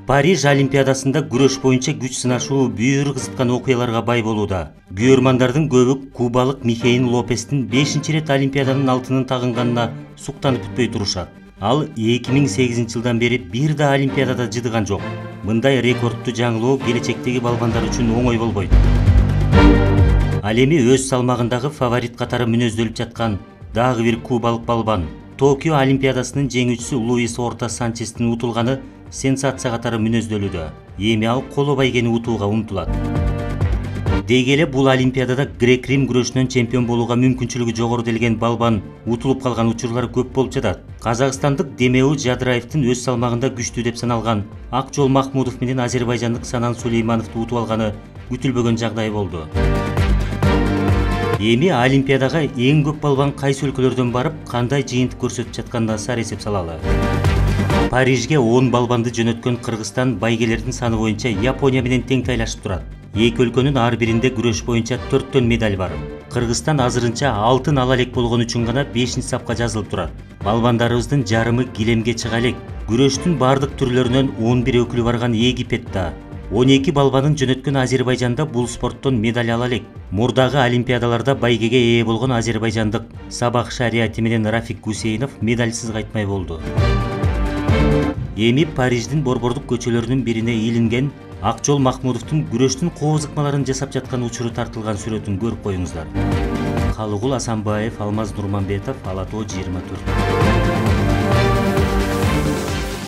Париж Олимпиадасында күрөш боюнча күч сынашуу бүйүр кызыткан окуяларга бай болууда. Күйөрмандардын көбү кубалык Михеил Лопестин 5-рет Олимпиаданын алтынын тагынганына суктанып бүтпөй турушат. Ал 2008 жылдан бери бир да Олимпиадада жыдыган жок. Мындай рекордту жаңылоо келечектеги балбандар үчүн оңой болбойт. Ал эми өз салмагындагы фаворит катары мүнөздөлүп жаткан дагы бир кубалык балбан Токио Олимпиадасынын жеңүүчүсү Луис Орта Санчестин утулганы сенсация катары мүнөздөлүүдө. Эми ал коло байгени утууга умтулат. Деги эле бул Олимпиадада грек-рим күрөшүнөн чемпион болууга мүмкүнчүлүгү жогору делген балбан утулуп калган учурлар көп болуп жатат. Казакстандык Демеу Жадыраевдин өз салмагында күчтүү деп саналган Акжол Махмудов менен азербайжандык Санан Сулеймановду утуп алганы күтүлбөгөн жагдай болду. Эми Олимпиадага эң көп балбан кайсы өлкөлөрдөн барып, кандай жыйынтык көрсөтүп жатканына сар эсеп салалы. Парижге 10 балбанды жөнөткөн Кыргызстан байгелердин саны боюнча Япония менен тең тайлашып турат. Эки өлкөнүн ар биринде күрөш боюнча 4 медаль бар. Кыргызстан азырынча алтын ала элек болгон үчүн гана 5-сапка жазылып турат. Балбандарыбыздын жарымы килемге чыга элек. Күрөштүн бардык түрлөрүнөн 11 өкүлү барган Египетте 12 балбанын жөнөткөн Азербайжанда бул спорттон медаль ала элек. Мурдагы олимпиадаларда байгеге ээ болгон азербайжандык Сабах Шариати менен Рафик Гусейнов медальсыз кайтмай болду. Эми Париждин борбордук көчөлөрүнүн бирине илинген Акжол Махмудовдун күрөштүн кооз ыкмаларын жасап жаткан учуру тартылган сүрөтүн көрүп коюңуздар. Калыгул Асанбаев, Алмаз Нурманбетов, Ала Тоо 24.